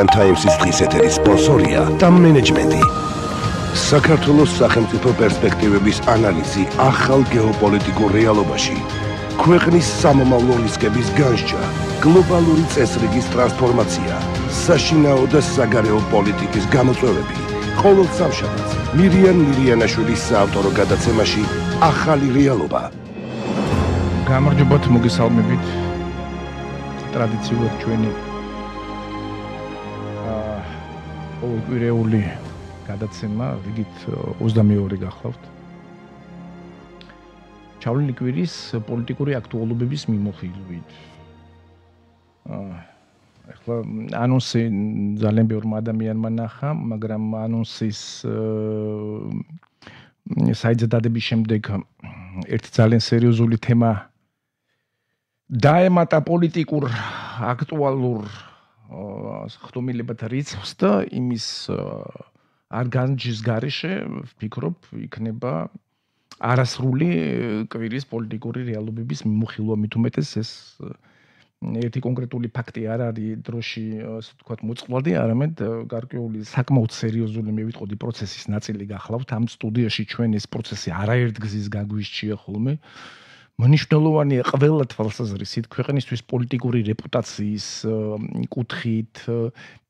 Times-ის დღის ეთერის სპონსორია TAM Management-ი. საქართველოს სახელმწიფო პერსპექტივების ანალიზი ახალ გეოპოლიტიკურ რეალობაში, ქვეყნის სამომავლო რისკების განსჯა, გლობალური წესრიგის ტრანსფორმაცია, საშინაო და საგარეო პოლიტიკის გამოწვევები. ყოველ სამშაბათს მირიან მირიანაშვილის საავტორო გადაცემაში ახალი რეალობა. გამარჯობათ, მოგესალმებით. ტრადიციულად ჩვენი ყოველკვირეული გადაცემა, რიგით 22 გახლავთ. ჩავლილი კვირის პოლიტიკური აქტუალობების მიმოხილვით. ახლა ანონსი ძალიან ბევრმა ადამიანმა ნახა, მაგრამ ანონსის საიტზე დადების შემდეგ ერთი ძალიან სერიოზული თემა დაემატა პოლიტიკურ აქტუალურ ხდომილებათა რიცხვს და იმის არ განჯის გარეშე ვფიქრობ იქნება არასრული კვირის პოლიტიკური რეალობების მიმოხილვა, მით უმეტეს ეს ერთი კონკრეტული ფაქტი არ არის დროში, ასე ვთქვათ, მოწყვლადი, არამედ გარკვეული საკმაოდ სერიოზული მე ვიტყოდი პროცესის ნაწილი გახლავთ. ამ სტუდიაში ჩვენ ეს პროცესი არაერთგზის გაგვისჩია ხოლმე. მნიშვნელოვანია ყველა თვალსაზრისით ქვეყნისთვის პოლიტიკური რეპუტაციის კუთხით,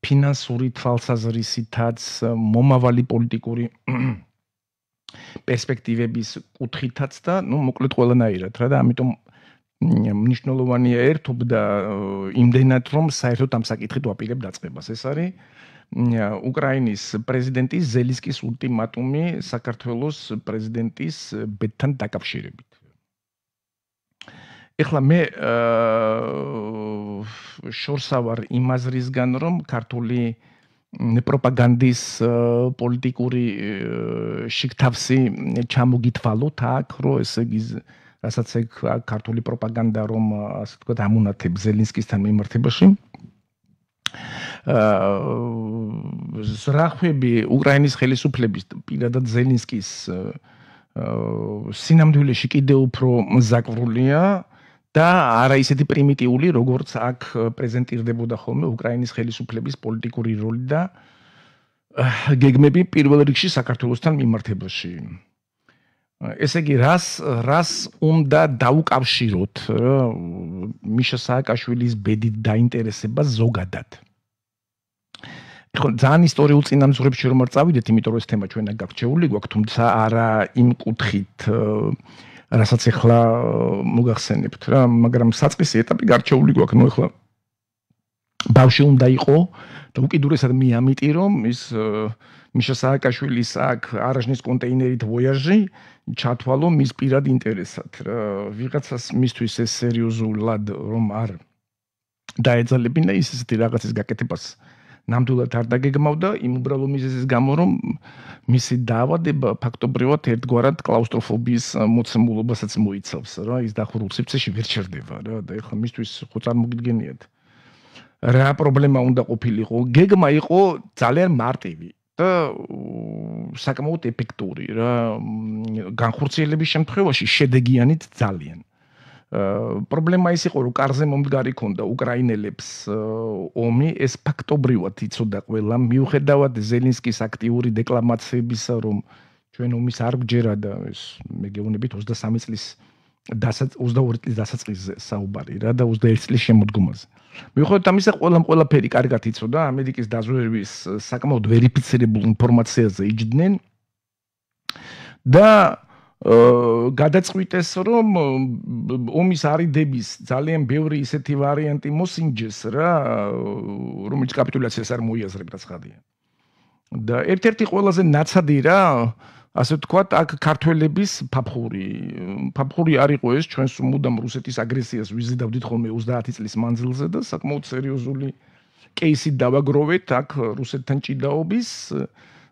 ფინანსური თვალსაზრისითაც, მომავალი პოლიტიკური პერსპექტივების კუთხითაც და, მოკლედ ყველანაირად რა და ამიტომ მნიშვნელოვანია ერთობდა იმდენად რომ საერთოდ ამ საკითხით ვაპირებ დაწყებას. ეს არის უკრაინის პრეზიდენტის ზელენსკის ულტიმატუმი საქართველოს პრეზიდენტის ბედთან დაკავშირებით. ეხლა მე შორსა ვარ იმ აზრისგან, რომ ქართული პროპაგანდის პოლიტიკური შიგთავსი ჩამოგითვალოთ აქ, რომ ესე იგი რასაც ეგ ქართული პროპაგანდა რომ ასე ვთქვათ ამუნათებს ზელენსკისთან მიმართებაში. ზრახვები უკრაინის ხელისუფლების პირადად ზელენსკის სინამდვილეში კიდევ უფრო ზაკვრულია და არა ისეთი პრიმიტიული, როგორც აქ პრეზენტირდებოდა ხოლმე უკრაინის ხელისუფლების პოლიტიკური როლი და გეგმები პირველ რიგში საქართველოსთან მიმართებაში. ესე იგი, რას უნდა დაუკავშიროთ მიშა სააკაშვილის ბედით დაინტერესება ზოგადად. ძალიან ისტორიულ წინამძღვრებში რომ არ წავიდეთ, იმიტომ რომ ეს თემა ჩვენ გაგრჩეული გვაქვს, თუმცა არა იმ კუთხით, რასაც ახლა მოგახსენებთ რა, მაგრამ საწყისი ეტაპი გარჩეული გვაქვს, ახლა ბავშვი უნდა იყო და უკიდურესად მე ამიტი რომ ის მიშა სააკაშვილის აქ არაჟნის კონტეინერით ვოიაჟი ჩათვალო მის პირად ინტერესად რა, ვიღაცას მისთვის ეს სერიოზულად რომ არ დაეძალებინა ის ესეთი რაღაცის გაკეთებას ნამდვილად არ დაგეგმავდა იმ უბრალო მიზეზის გამო, რომ მისი დაავადება ფაქტობრივად ერთგვარად კლაუსტროფობიის მოცემულობასაც მოიცავს რა, ის დახურულ სივრცეში ვერ ჩერდება რა და ეხლა მისთვის ხო წარმოგიდგენიათ რა პრობლემა უნდა ყოფილიყო. გეგმა იყო ძალიან მარტივი და საკმაოდ ეფექტური რა, განხორციელების შემთხვევაში შედეგიანით ძალიან. პრობლემა ის იყო, რომ კარზე მომდგარი ქონდა უკრაინელებს ომი, ეს ფაქტობრივად იცოდა ყველა, მიუხედავად ზელენსკის აქტიური დეკლამაციებისა, რომ ჩვენ ომის არ გჯერა და ეს მე გეუბნებით 23 წლის 22 წლის დასაწყისზე საუბარი რა და 21 წლის შემოდგომაზე. მიუხედავად ამისა, ყველაფერი კარგად იცოდა, ამერიკის დაზვერვის საკმაოდ ვერიფიცირებულ ინფორმაციაზე იჯდნენ და გადაწყვიტეს რომ ომის არიდების ძალიან ბევრი ისეთი ვარიანტი მოსინჯეს რა, რომელიც კაპიტულაციას არ მოიაზრებდა ცხადია. და ერთ-ერთი ყველაზე ნაცადი რა, ასე ვთქვათ, აქ ქართველების ფაფხური არ იყო ეს, ჩვენს მუდამ რუსეთის აგრესიას ვიზიდავდით ხოლმე 30 წლის მანძილზე და საკმაოდ სერიოზული კეისით დავაგროვეთ აქ რუსეთთან ჭიდაობის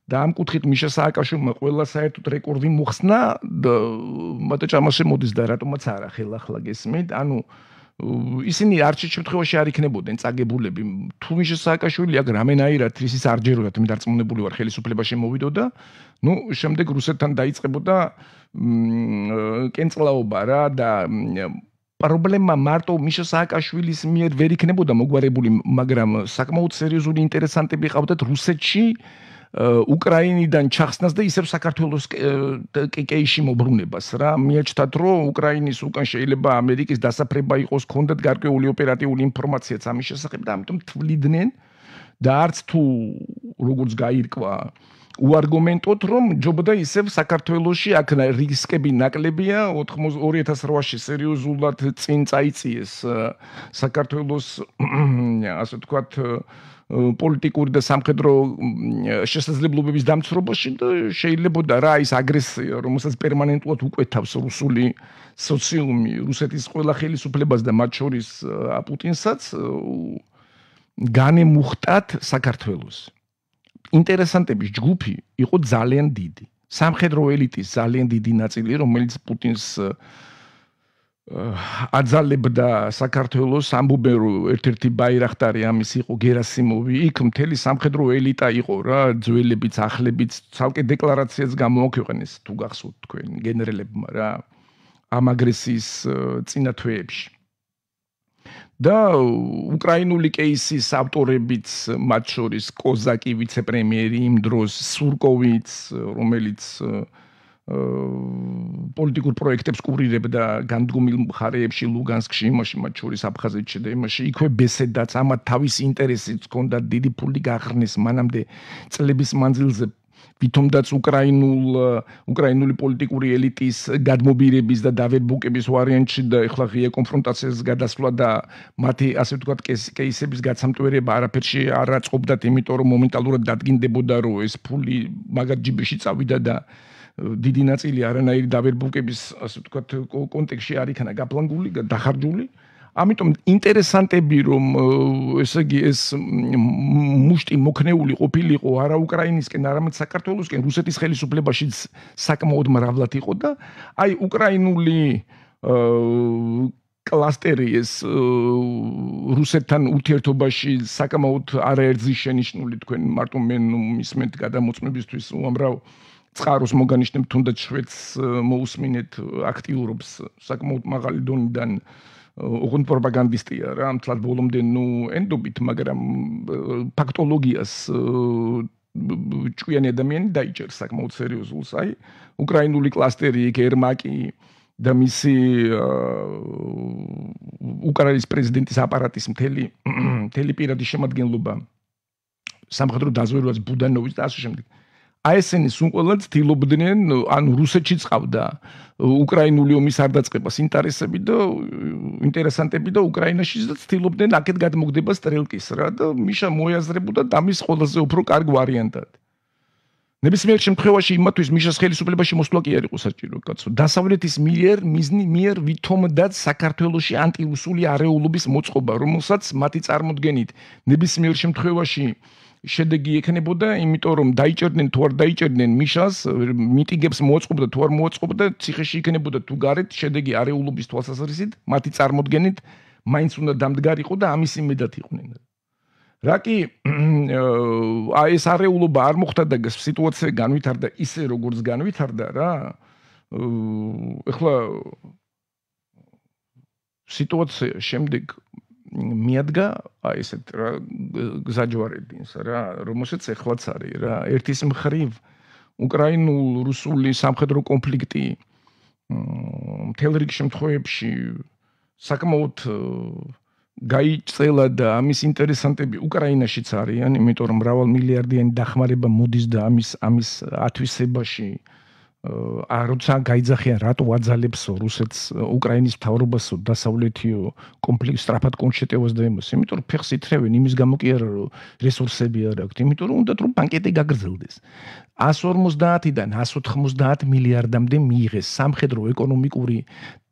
და ამ კუთხით მიშა სააკაშვილმა ყველა საერთოდ რეკორდი მოხსნა და მათო ჭამაში მოდის და რატომაც არა ხელახლა გესმით, ანუ ისინი არჩეულ შემთხვევაში არ იქნებოდნენ წაგებულები. თუ მიშა სააკაშვილი აქ რამენაირად ისის არ ჯეროდა, მე დარწმუნებული ვარ ხელისუფლებაში მოვიდოდა, შემდეგ რუსეთთან დაიწყებოდა კენწლაობა რა და პრობლემა მარტო მიშა სააკაშვილის მიერ ვერ იქნებოდა მოგვარებული, მაგრამ საკმაოდ სერიოზული ინტერესანტები ყავდათ რუსეთში, უკრაინიდან ჩახსნას და ისევ საქართველოს კეიში მოbrunებას რა. მიაჩნდათ, რომ უკრაინის უკან შეიძლება ამერიკის დასაფრება იყოს, ქონდათ გარკვეული ოპერატიული ინფორმაციაც ამის შესახებ და ამიტომ თვლიდნენ და არც თუ როგორც გაირკვა უარგუმენტოდ, რომ ჯობდა ისევ საქართველოში აქ რისკები ნაკლებია 2008-ში სერიოზულად წინ წაიწიეს საქართველოს ასე ვთქვათ პოლიტიკური და სამხედრო შესაძლებლობების დამცრობაში და შეიძლებოდა რა ის აგრესია, რომელსაც პერმანენტულად უკვეთავს რუსული სოციუმი, რუსეთის ყველა ხელისუფლებას და მათ შორის პუტინსაც განემუხტათ საქართველოს. ინტერესანტების ჯგუფი იყო ძალიან დიდი. სამხედრო ელიტის ძალიან დიდი ნაწილი, რომელიც პუტინს აძალებდა საქართველოს, ამბობენ რომ ერთ-ერთი ბაირახტარი ამის იყო გერასიმოვი. იქ მთელი სამხედრო ელიტა იყო რა, ძველებიც, ახლებიც, ცალკე დეკლარაციას გამოაქვეყნეს თუ გახსოვთ თქვენ გენერალებმა რა, ამ აგრესიის წინა თვეებში. და უკრაინული კეისის ავტორებიც, მათ შორის კოზაკი ვიცე-პრემიერი იმ დროს, სურკოვიც, რომელიც პოლიტიკურ პროექტებს კურირებდა განდგომილ მხარეებში, ლუგანსკში, იმაში, მათ შორის აფხაზეთში და იმაში, იქვე ბესედაც, ამათ თავისი ინტერესიც ჰქონდათ, დიდი ფული გაახრნეს მანამდე წლების მანძილზე. ვითომაც უკრაინული პოლიტიკური ელიტის გადმობირების და დავერბუკების ვარიანტში და ეხლა ღია კონფრონტაციას გადასვლა და მათი ასე ვთქვათ კეისების გაცამტვერება არაფერში არ აწყობდათ, იმიტომ რომ მომენტალურად დადგინდებოდა, რომ ეს ფული მაგარ ჯიბეში წავიდა და დიდი ნაწილი არანაირი დავერბუკების ასე ვთქვათ კონტექსტში არ იქნა გაპლანგული, დახარჯული. ამიტომ ინტერესანტები რომ ესე იგი ეს მუშტი მოქნეული ყოფილიყო არა უკრაინისკენ, არამედ საქართველოსკენ, რუსეთის ხელისუფლებაშიც საკმაოდ მრავლად იყო და აი უკრაინული კლასტერი ეს რუსეთთან ურთიერთობაში საკმაოდ არაერთზის შენიშვნული თქვენ მარტო მე მისმენთ გადამოწმებისთვის უამრავ წყაროს მოგანიშნებთ, თუნდაც შვედს მოусმინეთ აქტიურობს საკმაოდ მაღალი დონიდან ოღონდ პროპაგანდისტია რა, მთლად ბოლომდე ენდობით, მაგრამ ფაქტოლოგიას ჭკვიანი ადამიანი დაიჭერს საკმაოდ სერიოზულს. აი, უკრაინული კლასტერი, ერმაკი და მისი უკრაინის პრეზიდენტის აპარატის მთელი პირადი შემადგენლობა, სამხედრო დაზვერვაც ბუდანოვის და ასე შემდეგ. აი ესენი სულ ყველა ცდილობდნენ, ანუ რუსეთშიც ყავდა უკრაინული ომის არ დაწყებას ინტერესები და ინტერესანტები და უკრაინაშიც ცდილობდნენ აქეთ გადმოგდება სტრელკის რა და მიშა მოიაზრებოდა დამის ყველაზე უფრო კარგ ვარიანტად. ნებისმიერ შემთხვევაში იმათვის მიშას ხელისუფლებაში მოსვლა კი არ იყო საჭირო, კაცო. დასავლეთის მიერ ვითომდაც საქართველოში ანტირუსული არეულობის მოწყობა, რომელსაც მათი წარმოდგენით ნებისმიერ შემთხვევაში შედეგი ექნებოდა, იმიტომ რომ დაიჭერდნენ თუ არ დაიჭერდნენ მიშას, მიტინგებს მოაწყობდა თუ არ მოაწყობდა, ციხეში იქნებოდა თუ გარეთ, შედეგი არეულობის თვალსაზრისით, მათი წარმოდგენით მაინც უნდა დამდგარიყო და ამის იმედად იყვნენ. რა კი აი ეს არეულობა არ მოხდა და სიტუაცია განვითარდა ისე როგორც განვითარდა რა. ეხლა სიტუაცია შემდეგ მიადგა აი ესეთ რა გზაჯვარედინს რა, რომელშიც ეხლაც არის რა. ერთის მხრივ უკრაინულ-რუსული სამხედრო კონფლიქტი მთელ რიგ შემთხვევებში საკმაოდ გაიწელა და ამის ინტერესანტები უკრაინაშიც არიან, იმიტომ რომ მრავალმილიარდიანი დახმარება მოდის და ამის ათვისებაში როცა გაიძახიან რატო აძალებს რუსეთს უკრაინის მთავრობასო დასავლეთიო კონფლიქტს სწრაფად კონშეტევას და იმას, იმიტომ რომ ფეხს ითრევენ იმის გამო კი არა რომ რესურსები არ აქვთ, იმიტომ რომ უნდათ რომ ბანკეტი გაგრძელდეს. 150-დან 190 მილიარდამდე მიიღეს სამხედრო, ეკონომიკური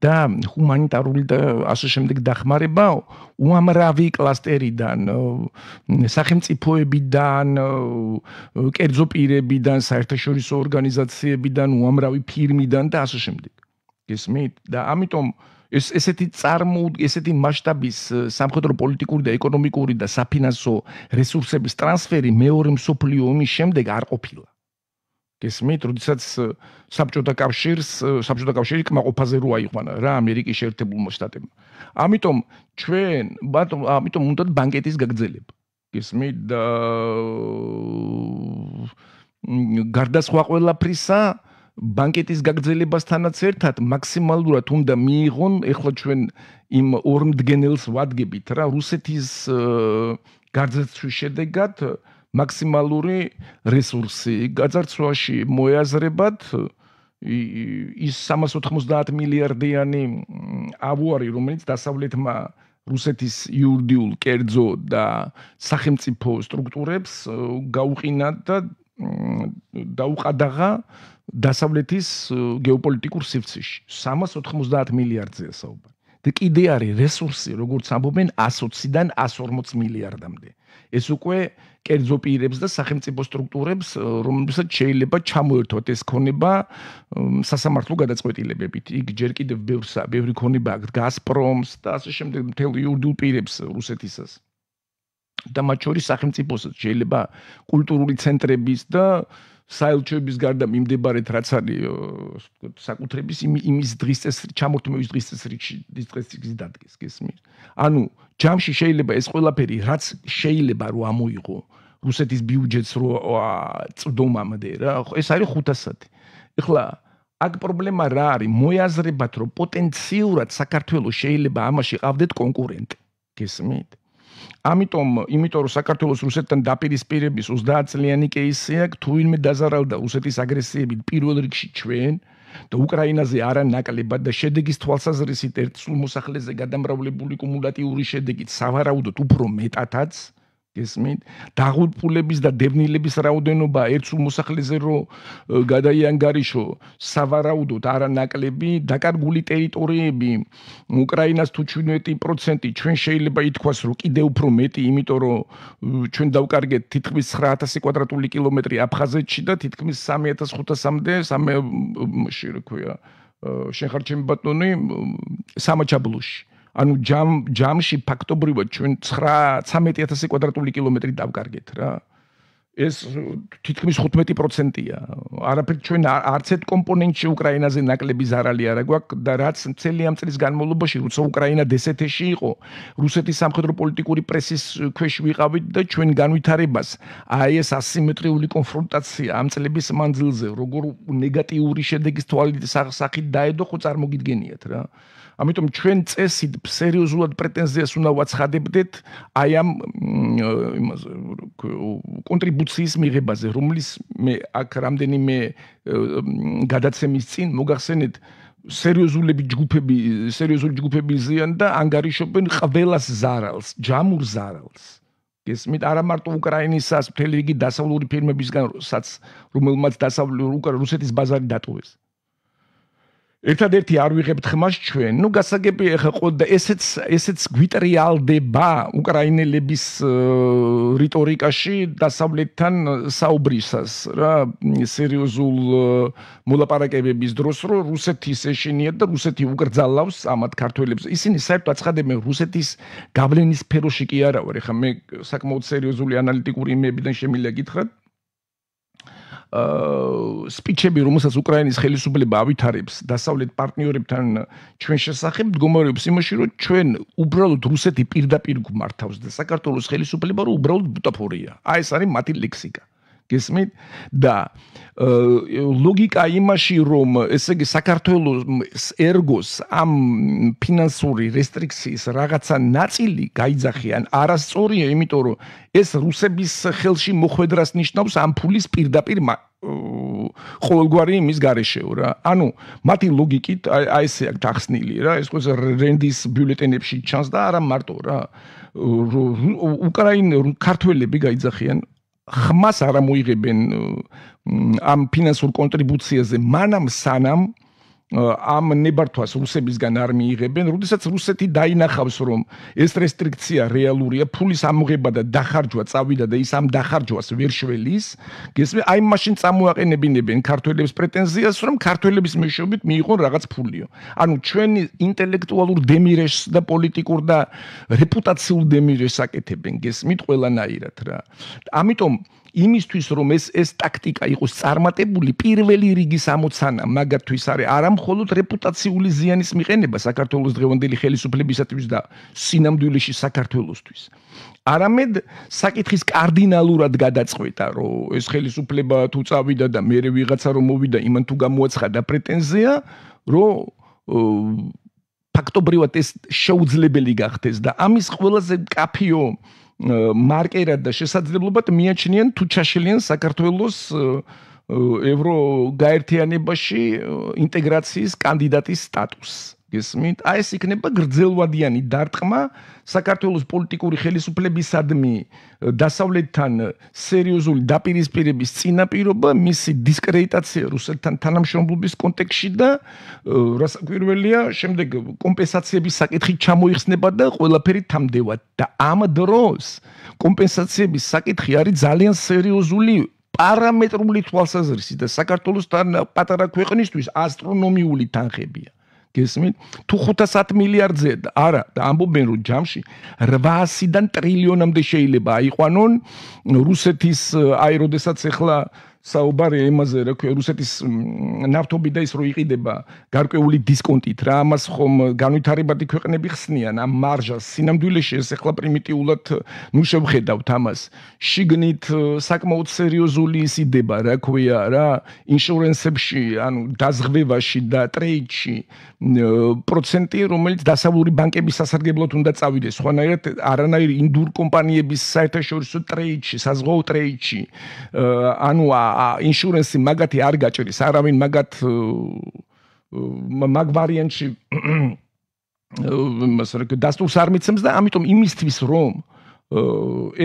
და ჰუმანიტარული და ასე შემდეგ დახმარება უამრავი კლასტერიდან, სახელმწიფოებიდან, კერძო პირებიდან, საერთაშორისო ორგანიზაციებიდან, უამრავი ფირმიდან და ასე შემდეგ. გესმით? და ამიტომ ესეთი მასშტაბის სამხედრო პოლიტიკური და ეკონომიკური და საფინანსო რესურსების ტრანსფერი მეორე მსოფლიო ომის შემდეგ არ ყოფილა. გესმით, როდესაც საბჭოთა კავშირი კმაყოფაზე რო აიყვანა რა ამერიკის შეერთებულმა შტატებმა. ამიტომ ამიტომ უნდა ბანკეტის გაგრძელება. გესმით და გარდა სხვა ყველაფრისა ბანკეტის გაგრძელებასთანაც ერთად მაქსიმალურად უნდა მიიღონ ეხლა ჩვენ იმ ორმდგენელს ვადგებით რა რუსეთის გარდაცვის შედეგად მაქსიმალური რესურსი გაძარცვაში მოეაზრებათ ის 390 მილიარდიანი ავუარი რომელიც დასავლეთმა რუსეთის იურიდიულ კერძო და სახელმწიფო სტრუქტურებს გაუყინა და დაუყადაღა დასავლეთის გეოპოლიტიკურ სივრცეში 390 მილიარდზეა საუბარი. და კიდე არის რესურსი, როგორც ამბობენ 120-დან 140 მილიარდამდე. ეს უკვე კერძო პირებს და სახელმწიფო სტრუქტურებს, რომლებსაც შეიძლება ჩამოერთვათ ეს ქონება სასამართლო გადაწყვეტილებებით. იქ ჯერ კიდევ ბევრი ქონება აქვს გაზპრომს და ასე შემდეგ მთელ იურიდიულ პირებს რუსეთისას. და მათ შორის სახელმწიფოსაც შეიძლება კულტურული ცენტრების და საელჩოების გარდა მიმდებარეთ რაც არის საკუთრების იმის დღის წესრიგი ჩამორთმევის დღის წესრიგში დადგეს გესმის. ანუ ჯამში შეიძლება ეს ყველაფერი რაც შეიძლება რომ ამოიღო რუსეთის ბიუჯეტს რო წვდომამდე რა ეს არის 500. ეხლა აქ პრობლემა რა არის მოიაზრებათ რომ პოტენციურად საქართველოს შეიძლება ამაში ყავდეთ კონკურენტი გესმით. ამიტომ რომ საქართველოს რუსეთთან დაპირისპირების 30 წლიანი კეისი აქვს თუ ვინმე დაზარალდა რუსეთის აგრესიებით პირველ რიგში ჩვენ და უკრაინაზე არანაკლებად და შედეგის თვალსაზრისით ერთსულ მოსახლეზე გადამრავლებული კუმულატიური შედეგით სავარაუდოდ უფრო მეტადაც გესმით დაღუპულების და დევნილების რაოდენობა ერთსულ მოსახლეზე რო გადაიანგარიშო სავარაუდოდ არანაკლები დაკარგული ტერიტორიები უკრაინას თუ 17% ჩვენ შეიძლება ითქვას რომ კიდე უფრო მეტი იმიტომ რომ ჩვენ დავკარგეთ თითქმის 9000 კვადრატული კილომეტრი აფხაზეთში და თითქმის 3500-მდე შენ ხარ ჩემი ბატონი სამაჩაბლოში ანუ ჯამში ფაქტობრივად ჩვენ 13000 კვადრატული კილომეტრი დავკარგეთ რა. ეს თითქმის 15%-ია. არაფერ ჩვენ არც ერთ კომპონენტში უკრაინაზე ნაკლები ზარალი არ აქვს და რაც მთელი ამ წლის განმავლობაში როცა უკრაინა დსთ-ში იყო, რუსეთის სამხედრო პოლიტიკური პრესის ქვეშ ვიყავით და ჩვენ განვითარებას აი ეს ასიმეტრიული კონფრონტაცია ამ წლების მანძილზე როგორ ნეგატიური შედეგის სახით დაედო ხო წარმოგიდგენიათ რა. ამიტომ ჩვენ წესით სერიოზულად პრეტენზიას უნდა ვაცხადებდეთ აი ამ კონტრიბუციის მიღებაზე, რომლის მე აქ რამდენიმე გადაცემის წინ მოგახსენეთ სერიოზული ჯგუფები ზიან და ანგარიშობენ ყველას ზარალს, ჯამურ ზარალს. გესმით, არა მარტო უკრაინისას, მთელი რიგი დასავლური ფირმებისგანაც, რომელმაც რუსეთის ბაზარი დატოვეს. ერთადერთი არ ვიღებთ ხმას ჩვენ, გასაგები ხო და ესეც გვიტრიალდება უკრაინელების რიტორიკაში დასავლეთთან საუბრისას რა სერიოზულ მოლაპარაკებების დროს რომ რუსეთის ეშინიათ და რუსეთი უკრძალავს ამათ ქართველებს. ისინი საერთოდ აცხადებენ რუსეთის გავლენის სფეროში კი არა ვარ. ეხლა მე საკმაოდ სერიოზული ანალიტიკური იმებიდან შემიძლია გითხრათ. სპიჩები, რომელსაც უკრაინის ხელისუფლება ავითარებს დასავლეთ პარტნიორებთან ჩვენ შესახებ მდგომარეობს იმაში, რომ ჩვენ უბრალოდ რუსეთი პირდაპირ გვმართავს და საქართველოს ხელისუფლება რომ უბრალოდ ბუტაფორია. აი ეს არის მათი ლექსიკა. გესმით? და ლოგიკა იმაში, რომ ესე იგი საქართველოს ერგოს ამ ფინანსური რესტრიქციის რაღაცა ნაწილი გაიძახიან არასწორია, იმიტომ რომ ეს რუსების ხელში მოხვედრას ნიშნავს ამ ფულის პირდაპირ ყოველგვარი იმის გარეშეო რა. ანუ მათი ლოგიკით აი ესე აქვს ახსნილი რა, ეს ყველა რენდის ბიულეტენებში ჩანს და არა მარტო რა. ქართველები გაიძახიან ხმას არ მოიღებენ ამ ფინანსურ კონტრიბუციაზე მანამ სანამ ამ ნებართვას რუსებისგან არ მიიღებენ, როდესაც რუსეთი დაინახავს, რომ ეს რესტრიქცია რეალურია, ფულის ამოღება და დახარჯვა წავიდა და ის ამ დახარჯვას ვერ შველის, გესმით? აი მაშინ წამოაყენებინებენ ქართველებს პრეტენზიას, რომ ქართველების მეშვეობით მიიღონ რაღაც ფულიო. ანუ ჩვენი ინტელექტუალურ დემირეშს და პოლიტიკურ და რეპუტაციულ დემირეშს აკეთებენ, გესმით? ყველანაირად რა. ამიტომ იმისთვის რომ ეს ტაქტიკა იყოს წარმატებული, პირველი რიგის ამოცანა მაგათთვის არის არა მხოლოდ რეპუტაციული ზიანის მიყენება საქართველოს დღევანდელი ხელისუფლებისათვის და სინამდვილეში საქართველოსთვის. არამედ საკითხის კარდინალურად გადაწყვეტა, რომ ეს ხელისუფლება თუ წავიდა და მერე ვიღაცა რომ მოვიდა, იმან თუ გამოაცხადა პრეტენზია, რომ ფაქტობრივად ეს შეუძლებელი გახდეს და ამის ყველაზე მკაფიო მარკერად და შესაძლებლობად მიაჩნიან თუ ჩაშლიან საქართველოს ევროგაერთიანებაში ინტეგრაციის კანდიდატის სტატუსს. გესმით? აი ეს იქნება გრძელვადიანი დარტყმა საქართველოს პოლიტიკური ხელისუფლებისადმი დასავლეთთან სერიოზული დაპირისპირების წინაპირობა, მისი დისკრედიტაცია რუსეთთან თანამშრომლობის კონტექსტში და რასაკვირველია, შემდეგ კომპენსაციების საკითხი ჩამოიხსნება და ყველაფერი თამდევა. და ამ დროს კომპენსაციების საკითხი არის ძალიან სერიოზული პარამეტრული თვალსაზრისით და საქართველოსთან პატარა ქვეყნისთვის ასტრონომიული თანხებია. გესმით? თუ 510 მილიარდზე არა და ამბობენ რომ ჯამში 800-დან ტრილიონამდე შეიძლება აიყვანონ რუსეთის აი როდესაც ახლა საუბარი ემაზე რა ქვია რუსეთის ნავთობი და ის რო იყიდება გარკვეული დისკონტით რა ამას ხომ განვითარებადი ქვეყნები ხსნიან ამ მარჟას სინამდვილეში ეს ახლა პრიმიტიულად ნუ შევხედავთ ამას შიგნით საკმაოდ სერიოზული ისიდება რა ქვია რა ინშურენსებში ანუ დაზღვევაში და ტრეიდში პროცენტი რომელიც დასავლური ბანკების სასარგებლოდ უნდა წავიდეს სხვანაირად არანაირი ინდურ კომპანიების საერთაშორისო ტრეიდში საზღვაო ტრეიდში ანუ ინშურენსი მაგათი არ გაჭრის არავინ მაგათ მაგ ვარიანტში დასტურს არ მიცემს და ამიტომ იმისთვის რომ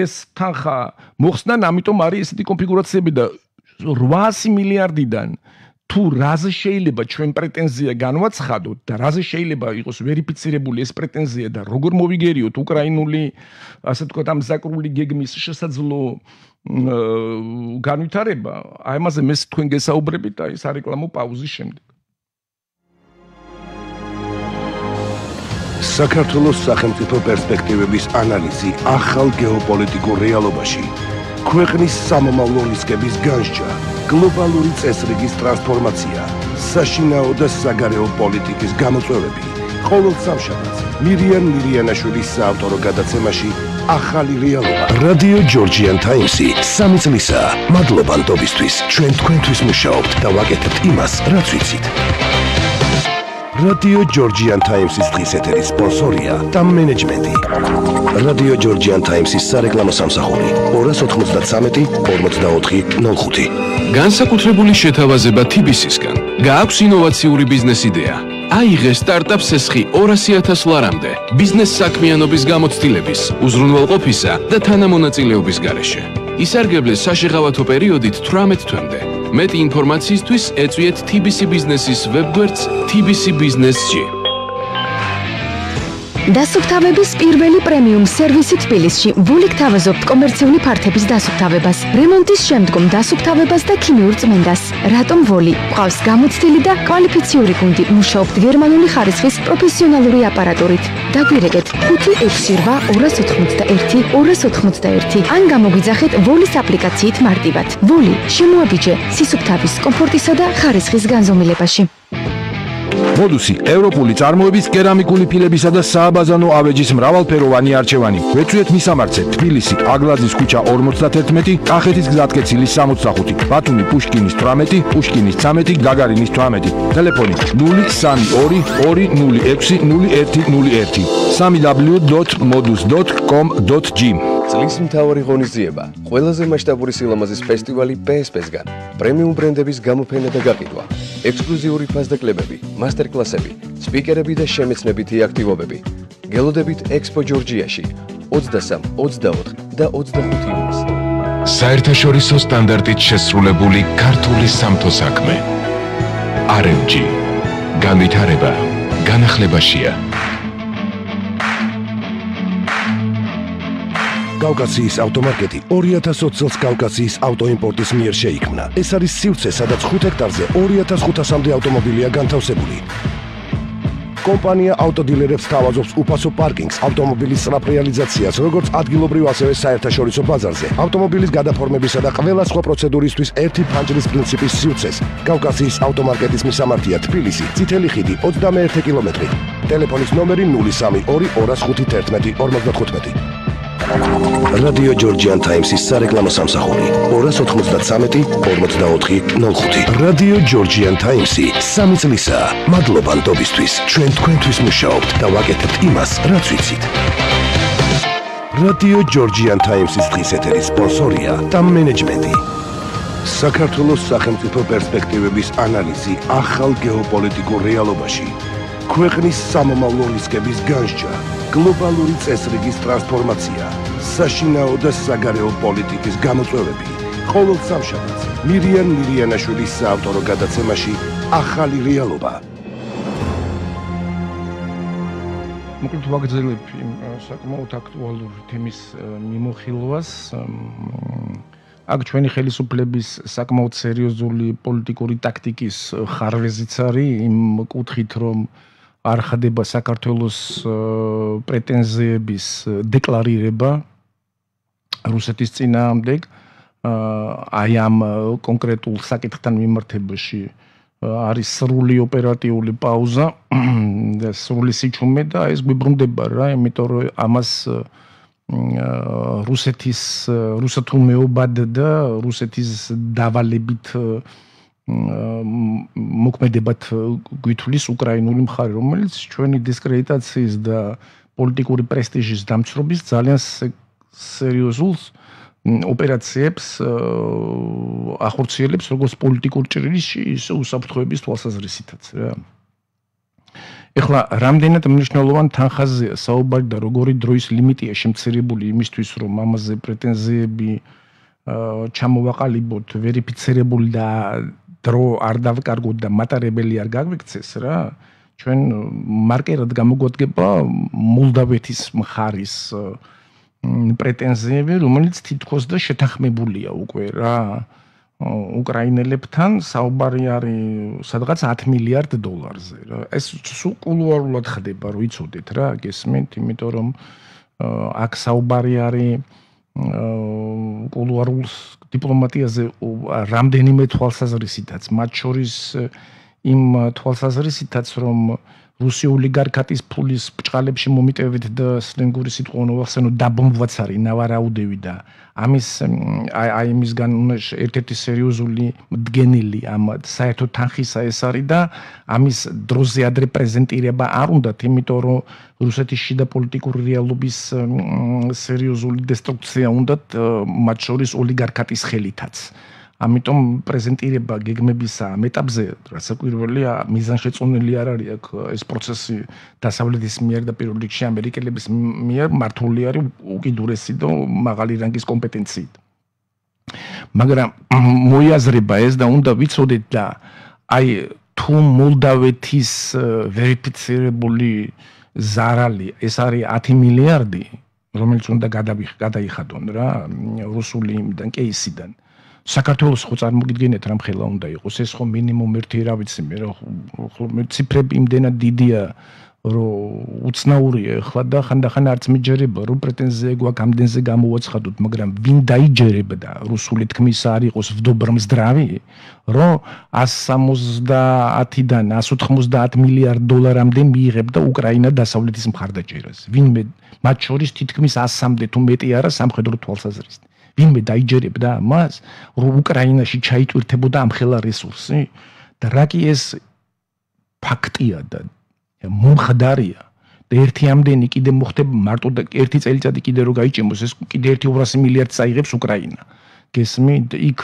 ეს თანხა მოხსნან ამიტომ არის ესეთი კონფიგურაციები და 800 მილიარდიდან თუ რაზე შეიძლება ჩვენ პრეტენზია განვაცხადოთ და რაზე შეიძლება იყოს ვერიფიცირებული ეს პრეტენზია და როგორ მოვიგერიოთ უკრაინული ასე თქვა ამზაკრული გეგმის შესაძლო განვითარება აი ამაზე მე თქვენ გესაუბრებით აი სარეკლამო პაუზის შემდეგ საქართველოს სახელმწიფო პერსპექტივების ანალიზი ახალ გეოპოლიტიკურ რეალობაში ქვეყნის სამომავლო რისკების განსჯა გლობალური წესრიგის ტრანსფორმაცია საშინაო და საგარეო პოლიტიკის გამოწვევები ყოველ სამშაბათს მირიან მირიანაშვილის საავტორო გადაცემაში ახალი რეალობა რადიო ჯორჯიან ტაიმსი 3 წლისა მადლობა ნდობისთვის ჩვენ თქვენთვის მუშაობთ და ვაკეთებთ იმას რაც ვიცით რადიო ჯორჯიან ტაიმსის დღის ეთერის სპონსორია და მენეჯმენტი რადიო ჯორჯიან ტაიმსის სარეკლამო სამსახური 293 44 05 განსაკუთრებული შეთავაზება TBC-სგან გააქვს ინოვაციური ბიზნეს იდეა აიღე სტარტაპ სესხი 200,000 ლარამდე ბიზნეს საქმიანობის გამოცდილების, უზრუნველყოფისა და თანამონაწილეობის გარეშე. ისარგებლეს საშეღავათო პერიოდით 18 თვემდე. მეტი ინფორმაციისთვის ეწვიეთ TBC ბიზნესის ვებგვერდს tbc-business.g. დასუფთავების პირველი პრემიუმ სერვისი თბილისში ვულიკ თავაზობთ კომერციული ფართების დასუფთავებას, რემონტის შემდგომ დასუფთავებას და ქიმიურ წმენდას. რატომ ვოლი? გვყავს გამოცდილი და კვალიფიციური გუნდი, მუშაობთ გერმანული ხარისხის პროფესიონალური აპარატურით. დაგვირეკეთ 568-281-281 ან გამოგვიძახეთ ვოლის აპლიკაციით მარტივად. ვოლი შემოაბიჯე სისუფთავის, კომფორტისა და ხარისხის განზომილებაში. მოდუსი ევროპული წარმოების კერამიკული ფილებისა და სააბაზანო ავეჯის მრავალფეროვანი არჩევანი. გვეწვიეთ მისამართზე თბილისი აგლაძის ქუჩა 51, კახეთის გზატკეცილის 65, ბათუმი პუშკინის 18, პუშკინის 13, გაგარინის 18. ტელეფონი 03220600101 www.modus.com.g. წლის მთავარი ღონისძიება, ყველაზე მასშტაბური სილამაზის ფესტივალი PSP-სგან, პრემიუმ ბრენდების გამოფენა და გაყიდვა, ექსკლუზიური ფასდაკლებები, მასტერკლასები, სპიკერები და შემეცნებითი აქტივობები. გელოდებით ექსპო ჯორჯიაში 23, 24 და 25 ივნისს. საერთაშორისო სტანდარტით შესრულებული ქართული სამთო საქმე. RMG. განვითარება განახლებაშია. კავკასიის ავტომარკეტი 2020 წელს კავკასიის ავტოიმპორტის მიერ შეიქმნა. ეს არის სივრცე, სადაც 5 ჰექტარზე 2500-მდე ავტომობილია განთავსებული. კომპანია ავტოდილერებს თავაზობს უფასო პარკინგს, ავტომობილის სწრაფ რეალიზაციას, როგორც ადგილობრივ, ასევე საერთაშორისო ბაზარზე, ავტომობილის გადაფორმებისა და ყველა სხვა პროცედურისთვის ერთი ფანჯრის პრინციპის სივრცეს. კავკასიის ავტომარკეტის მისამართია თბილისი, წითელი ხიდი 21 კილომეტრი. ტელეფონის ნომერი 0322 205 55. რადიო ჯორჯიან ტაიმსის სარეკლამო სამსახური 293 44 05. რადიო ჯორჯიან ტაიმსი 3 წლისაა. მადლობა ნდობისთვის. ჩვენ თქვენთვის მუშაობთ და ვაკეთებთ იმას, რაც ვიცით. რადიო ჯორჯიან ტაიმსის დღის ეთერის სპონსორია და მენეჯმენტი. საქართველოს სახელმწიფო პერსპექტივების ანალიზი ახალ გეოპოლიტიკურ რეალობაში. ქვეყნის სამომავლო რისკების განსჯა, გლობალური წესრიგის ტრანსფორმაცია, საშინაო და საგარეო პოლიტიკის გამოწვევები. ყოველ სამშაბათს მირიან მირიანაშვილის საავტორო გადაცემაში ახალი რეალობა. მოკლედ ვაგრძელებ საკმაოდ აქტუალურ თემის მიმოხილვას. აქ ჩვენი ხელისუფლების საკმაოდ სერიოზული პოლიტიკური ტაქტიკის ხარვეზიც არის იმ კუთხით, რომ არ ხდება საქართველოს პრეტენზიების დეკლარირება რუსეთის წინააღმდეგ აი ამ კონკრეტულ საკითხთან მიმართებაში არის სრული ოპერატიული პაუზა და სრული სიჩუმე და ეს გვიბრუნდება რა, იმიტომ რომ ამას რუსეთულ მეობად და რუსეთის დავალებით მოქმედებად გვითვლის უკრაინული მხარე, რომელიც ჩვენი დისკრედიტაციის და პოლიტიკური პრესტიჟის დამცრობის ძალიან სერიოზულ ოპერაციებს ახორციელებს როგორც პოლიტიკურ ჭრილში, ისე უსაფრთხოების თვალსაზრისითაც რა. ეხლა რამდენად მნიშვნელოვან თანხაზეა საუბარი და როგორი დროის ლიმიტია შემცირებული იმისთვის, რომ ამაზე პრეტენზიები ჩამოვაყალიბოთ, ვერიფიცირებული და დრო არ დავკარგოთ და მატარებელი არ გაგვიქცეს რა. ჩვენ მარკერად გამოგვადგება მოლდავეთის მხარის პრეტენზიები, რომელიც თითქოს და შეთანხმებულია უკვე რა. უკრაინელებთან საუბარი არის სადღაც 10 მილიარდ დოლარზე რა. ეს სულ კულუარულად ხდება, რომ იცოდეთ რა, გესმენთ, იმიტომ რომ აქ საუბარი არის კულუარულ დიპლომატიაზე რამდენიმე თვალსაზრისითაც, მათ შორის იმ თვალსაზრისითაც, რომ რუსი ოლიგარქატის ფულის ბჭყალებში მომიტევით და სლენგური სიტყვა ნოვახსენო დაბომბვაც არის ნავარაუდევი და აი იმისგან ერთ-ერთი სერიოზული მდგენელი ამ საერთო თანხისა ეს არის და ამის დროზე ადრე პრეზენტირება არ უნდათ, იმიტომ რომ რუსეთის შიდა პოლიტიკური რეალობის სერიოზული დესტრუქცია უნდათ მათ შორის ოლიგარქატის ხელითაც. ამიტომ პრეზენტირება გეგმებისა ამ ეტაპზე რასაკვირველია მიზანშეწონილი არ არის აქ ეს პროცესი დასავლეთის მიერ და პირველ რიგში ამერიკელების მიერ მართული არის უკიდურესი და მაღალი რანგის კომპეტენციით. მაგრამ მოიაზრება ეს და უნდა ვიცოდეთ და აი თუ მოლდავეთის ვერიფიცირებული ზარალი ეს არის 10 მილიარდი, რომელიც უნდა გადაიხადონ რა რუსული იმიდან კეისიდან. საქართველოს ხო წარმოგიდგენთ რამ ხელა უნდა იყოს ეს ხო მინიმუმ ერთი რა ვიცი მე რა ციფრები იმდენად დიდია რომ უცნაურია ახლა და ხანდახან არც მიჯერება რომ პრეტენზია გვაქვს ამდენზე გამოვაცხადოთ, მაგრამ ვინ დაიჯერება და რუსული თქმის არ იყოს ვდობრმსდრავი რომ 170-დან 190 მილიარდ დოლარამდე მიიღებდა უკრაინა დასავლეთის მხარდაჭერას. ვინმე მათ შორის თითქმის 100-მდე თუ მეტი არა სამხედრო თვალსაზრისით. ვინმე დაიჯერებდა მას, რომ უკრაინაში ჩაიტვირთებოდა ამ ხელა რესურსი და რა კი ეს ფაქტია და მომხდარია და ერთი ამდენი კიდე მოხდება მარტო და ერთი წელიწადი კიდე რო გაიჭიმოს ეს კიდე 200 მილიარდს აიღებს უკრაინა. გესმით, იქ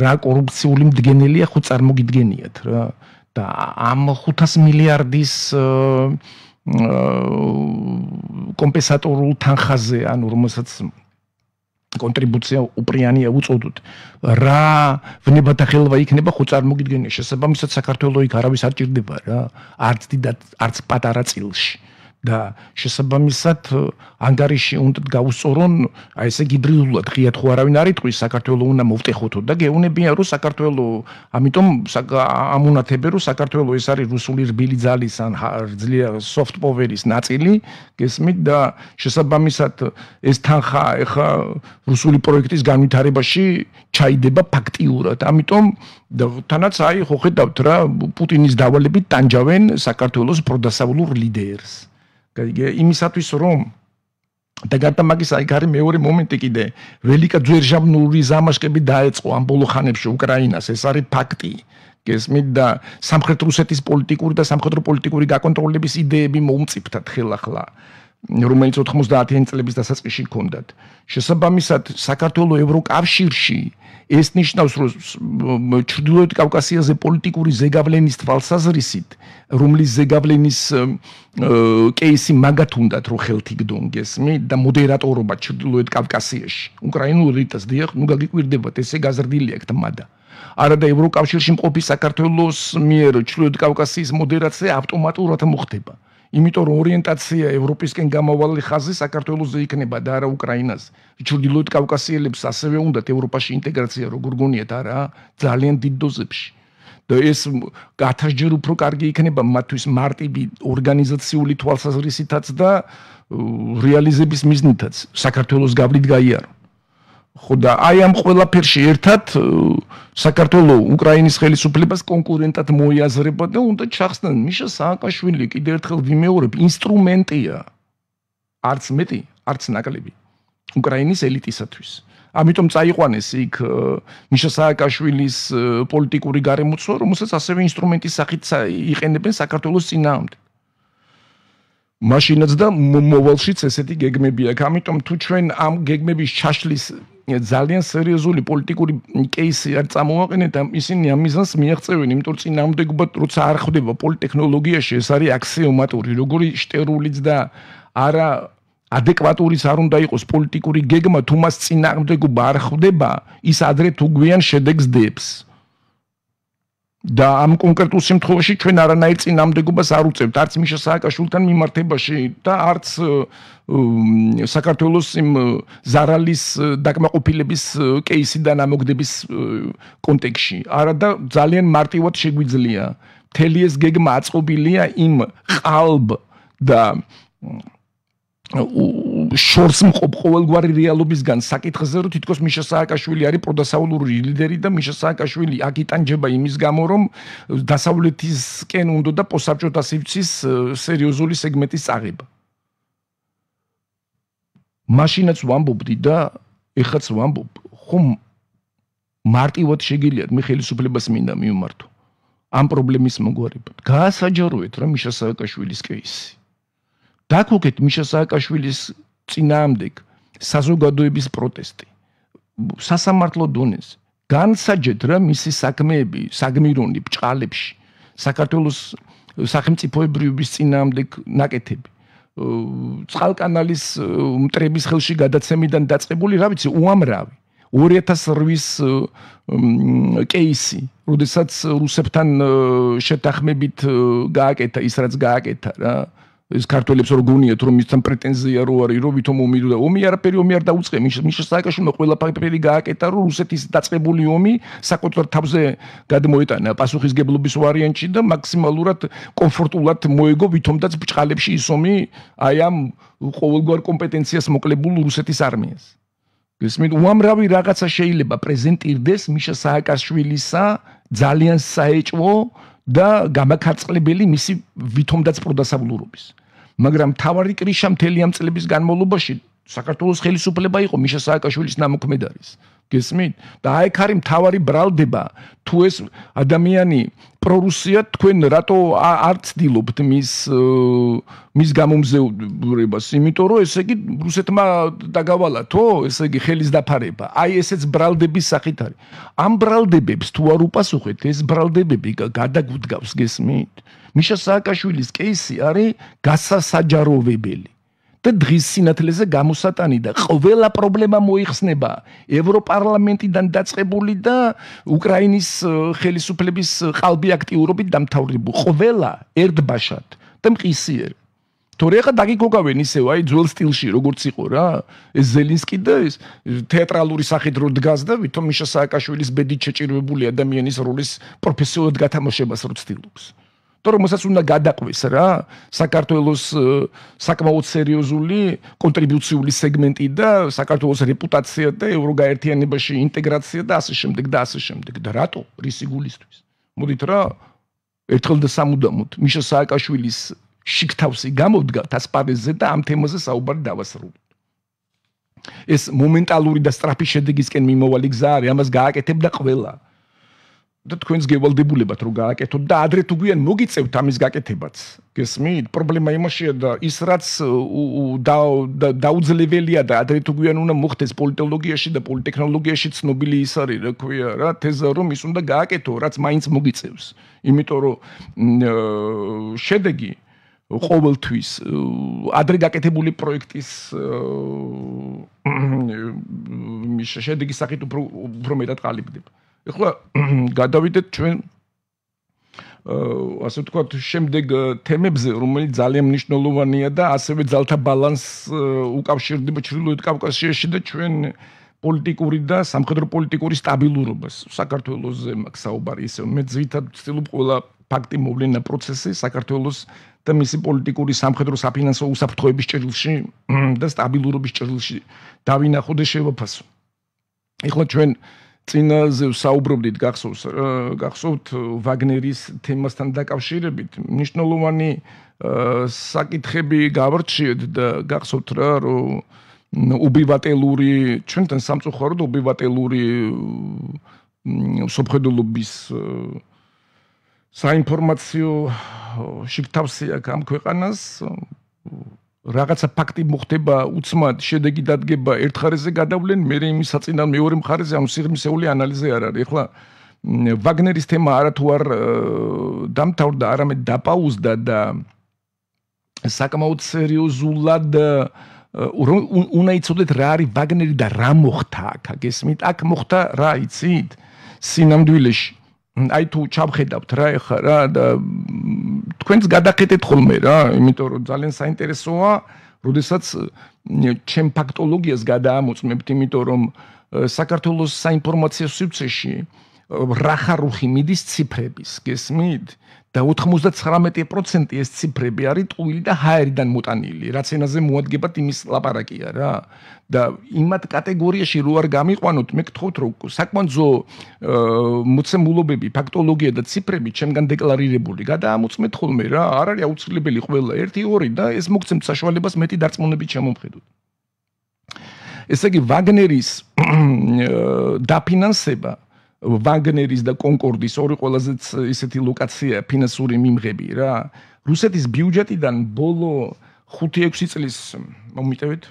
რა კორუფციული მდგენელია ხო წარმოგიდგენიათ რა და ამ 500 მილიარდის კომპენსატორულ თანხაზე, ანუ რომელსაც კონტრიბუცია უპრიანია უწოდოთ. რა ვნებათა ხელვა იქნება ხო წარმოგიდგენია შესაბამისად საქართველოს იქ არავის არ ჭირდება რა. არც დიდად, არც პატარა წილში. და შესაბამისად ანგარიში უნდა გავუსწორონ, აი ესე გიბრიულად ღიად ხო არავინ არ იტყვის საქართველოს უნდა მოვტეხოთო და გეუნებიან რომ საქართველოს ამიტომ ამუნათებენ რომ საქართველოს ეს არის რუსული რბილი ძალის ან ძლიერ soft power-ის ნაწილი, გესმით და შესაბამისად ეს თანხა ეხა რუსული პროექტის განვითარებაში ჩაიდება ფაქტიურად. ამიტომ თანაც აი ხო ხედავთ რა პუტინის დავალებით ტანჯავენ საქართველოს პროდასავლურ ლიდერს. იმისათვის რომ და გარდა მაგისა იქ არის მეორე მომენტი კიდე ველიკაძვერჟამნური ზამაშკები დაეწყო ამ ბოლო ხანებში უკრაინას ეს არის ფაქტი გესმით და სამხრეთ რუსეთის პოლიტიკური და სამხედრო პოლიტიკური გაკონტროლების იდეები მოუმწიფთად ხელახლა რომელიც 90-იანი წლების დასაწყისში ჰქონდათ შესაბამისად საქართველოს ევროკავშირში ეს ნიშნავს რომ ჩრდილოეთ კავკასიაზე პოლიტიკური ზეგავლენის თვალსაზრისით რომლის ზეგავლენის კეისი მაგათ უნდათ რომ ხელთიგდონ გესმით და მოდერატორობა ჩრდილოეთ კავკასიაში უკრაინულ რიტას დიახ ნუ გაგიკვირდებათ ესე გაზრდილი აქ თმადა არა და ევროკავშირში მყოფი საქართველოს მიერ ჩრდილოეთ კავკასიის მოდერაცია ავტომატურად მოხდება იმიტომ რომ ორიენტაცია ევროპისკენ გამავალი ხაზი საქართველოსზე იქნება და არა უკრაინაზე. ჩრდილოეთ კავკასიელებს ასევე უნდათ ევროპაში ინტეგრაცია როგორ გონიათ არა ძალიან დიდ დოზებში. და ეს 1000 ჯერ უფრო კარგი იქნება მათთვის მარტივი ორგანიზაციული თვალსაზრისითაც და რეალიზების მიზნითაც საქართველოს გავლით გაიარო. ხო და აი ამ ყველაფერში ერთად საქართველოს უკრაინის ხელისუფლებას კონკურენტად მოიაზრება და უნდა ჩახსნან მიშა სააკაშვილი კიდევ ერთხელ ვიმეორებ ინსტრუმენტია არც მეტი არც ნაკლები უკრაინის ელიტისათვის ამიტომ წაიყვანეს იქ მიშა სააკაშვილის პოლიტიკური გარემოცვა რომელსაც ასევე ინსტრუმენტის სახით იყენებენ საქართველოს წინააღმდეგ მაშინაც და მოვალშიც ესეთი გეგმები აქვს ამიტომ თუ ჩვენ ამ გეგმების ჩაშლის ძალიან სერიოზული პოლიტიკური კეისი არ წამოვაყენეთ და ისინი ამ მიზანს მიაღწევენ, იმიტომ რომ წინააღმდეგობა როცა არ ხდება პოლიტექნოლოგიაში, ეს არის აქსიომატური, როგორი შტერულიც და არა ადეკვატურიც არ უნდა იყოს პოლიტიკური გეგმა, თუ მას წინააღმდეგობა არ ხდება, ის ადრე თუ გვიან შედეგს დებს. და ამ კონკრეტულ შემთხვევაში ჩვენ არანაირ წინააღმდეგობას არ უწევთ, არც მიშა სააკაშვილთან მიმართებაში და არც საქართველოს იმ ზარალის დაკმაყოფილების კეისიდან ამოგდების კონტექსტში. არა და ძალიან მარტივად შეგვიძლია. მთელი ეს გეგმა აწყობილია იმ ყალბ და შორს მყოფ ყოველგვარი რეალობისგან საკითხზე რომ თითქოს მიშა სააკაშვილი არის პროდასავლური ლიდერი და მიშა სააკაშვილი აქ იტანჯება იმის გამო რომ დასავლეთისკენ უნდა და პოსტსაბჭოთა სივრცის სერიოზული სეგმენტის წაღება. მაშინაც ვამბობდი და ეხაც ვამბობ, ხომ მარტივად შეგიძლიათ მე ხელისუფლებას მინდა მივმართო ამ პრობლემის მოგვარებად. გაასაჯაროეთ რა მიშა სააკაშვილის კეისი. დაგუგეთ მიშა სააკაშვილის წინააღმდეგ საზოგადოების პროტესტი. სასამართლო დონეზე განსაჯეთ რა მისი საქმეები საგმირონი ბჭყალებში საქართველოს სახელმწიფოებრიობის წინააღმდეგ ნაკეთები. წყალკანალის მტრების ხელში გადაცემიდან დაწყებული რა ვიცი უამრავი 2008-ის კეისი, როდესაც რუსებთან შეთანხმებით გააკეთა ის რაც გააკეთა რა ეს ქართველებს რო გონიათ რომ მისთან პრეტენზია რო არის რომ ვითომ ომი და ომი არაფერი ომი არ დაუწყე მიშა სააკაშვილმა ყველაფერი გააკეთა რომ რუსეთის დაწყებული ომი საკუთარ თავზე გადმოეტანა პასუხისგებლობის ვარიანტში და მაქსიმალურად კომფორტულად მოეგო ვითომდაც ბჭყალებში ის ომი აი ამ ყოველგვარ კომპეტენციას მოკლებულ რუსეთის არმიას გესმით უამრავი რაღაცა შეიძლება პრეზენტირდეს მიშა სააკაშვილისა ძალიან საეჭვო და გამაქარწყლებელი მისი ვითომდაც პროდასავლურობის. მაგრამ თავარი კრიშა მთელი ამ წლების განმავლობაში საქართველოს ხელისუფლება იყო მიშა სააკაშვილის ნამოქმედარის. გესმით? და აი აქ არის მთავარი ბრალდება, თუ ეს ადამიანი პრორუსია თქვენ რატო არ ცდილობთ მის გამომზეურებას, იმიტომ რომ ესე იგი რუსეთმა დაგავალათო, ესე იგი ხელის დაფარება. აი ესეც ბრალდების სახით არის. ამ ბრალდებებს თუ არ უპასუხეთ, ეს ბრალდებები გადაგუდგავს, გესმით? მიშა სააკაშვილის კეისი არის გასასაჯაროვებელი. და დღის სინათლეზე გამოსატანი და ყველა პრობლემა მოიხსნება ევროპარლამენტიდან დაწყებული და უკრაინის ხელისუფლების ყალბი აქტიურობით დამთავრებული. ყველა ერთბაშად და მყისიერ. თორე ახლა დაგიკოკავენ ისევ აი ძველ სტილში როგორც იყო რა ეს ზელინსკი და ეს თეატრალური სახით რო დგას და ვითომ მიშა სააკაშვილის ბედით შეჭირვებული ადამიანის როლის პროფესიულად გათამაშებას რო ცდილობს თორე მოსაც უნდა გადაყვეს რა საქართველოს საკმაოდ სერიოზული კონტრიბუციული სეგმენტი და საქართველოს რეპუტაცია და ევროგაერთიანებაში ინტეგრაცია და ასე შემდეგ და რატო რისი გულისთვის მოდით რა ერთხელ და სამუდამოდ მიშა სააკაშვილის შიგთავსი გამოდგა თასპარეზზე და ამ თემაზე საუბარი დავასრულოთ. ეს მომენტალური და სწრაფი შედეგისკენ მიმოვალი გზა არის, ამას გააკეთებდა ყველა. და თქვენს გევალდებულებათ რომ გააკეთოთ და ადრე თუ გვიან მოგიწევთ ამის გაკეთებაც. გესმით? პრობლემა იმაშია და ის რაც დაუძლებელია და ადრე თუ გვიან უნდა მოხდეს პოლიტოლოგიაში და პოლიტექნოლოგიაში ცნობილი ის არის, რა ქვია რა, თეზა რომ ის უნდა გააკეთო, რაც მაინც მოგიწევს. იმიტომ რომ შედეგი ყოველთვის ადრე გაკეთებული პროექტის შედეგის სახით უფრო მეტად ყალიბდება. ეხლა გადავიდეთ ჩვენ ასე ვთქვათ შემდეგ თემებზე, რომელიც ძალიან მნიშვნელოვანია და ასევე ძალთა ბალანსს უკავშირდება ჩრდილოეთ კავკასიაში და ჩვენ პოლიტიკური და სამხედრო პოლიტიკური სტაბილურობას საქართველოსზე მაქვს საუბარი ისე მე ძირითადად ვცდილობ ყველა ფაქტი მოვლენა პროცესი საქართველოს და მისი პოლიტიკური სამხედრო საფინანსო უსაფრთხოების ჭრილში და სტაბილურობის ჭრილში დავინახო და შევაფასო. ეხლა ჩვენ წინაზე საუბრობდით გახსოვთ ვაგნერის თემასთან დაკავშირებით მნიშვნელოვანი საკითხები გავარჩიეთ და გახსოვთ რა რომ უბივატელური ჩვენთან სამწუხაროდ უბივატელური სოფხედულობის საინფორმაციო შიგთავსი აქვს ამ ქვეყანას რაღაცა ფაქტი მოხდება უცმად შედეგი დადგება ერთ ხარეზე გადავლენ მე იმის საწინააღმდეგო მეორე მხარეზე ანუ სიღრმისეული ანალიზი არ არის ეხლა ვაგნერის თემა არათუ არ დამთავრდა არამედ დაპაუზდა და საკმაოდ სერიოზულად უნდა იცოდეთ რა არის ვაგნერი და რა მოხდა აქ გესმით აქ მოხდა რა იცით სინამდვილეში აი თუ ჩავხედავთ რა ეხა რა და თქვენს გადახედეთ ხოლმე რა იმიტომ რომ ძალიან საინტერესოა როდესაც ჩემ ფაქტოლოგიას გადაამოწმებთ იმიტომ რომ საქართველოს საინფორმაციო სივრცეში რახარუხი მიდის ციფრების გესმით და 99% ეს ციფრები არის ტყუილი და ჰაერიდან მოტანილი რაც ენაზე მოადგებათ იმის ლაპარაკია რა და იმათ კატეგორიაში რო არ გამიყვანოთ მე გთხოვთ რომ საკმაოდ მოცემულობები ფაქტოლოგია და ციფრები ჩემგან დეკლარირებული გადაამოწმეთ ხოლმე რა არ არის აუცილებელი ყველა 1-2 და ეს მოგცემთ საშუალებას მეტი დარწმუნებით შემომხედოთ ესე იგი ვაგნერის დაფინანსება ვაგნერის და კონკორდის ორი ყველაზე ისეთი ლოკაცია ფინანსური მიმღები რა რუსეთის ბიუჯეტიდან ბოლო 5-6 წლის მომიტევეთ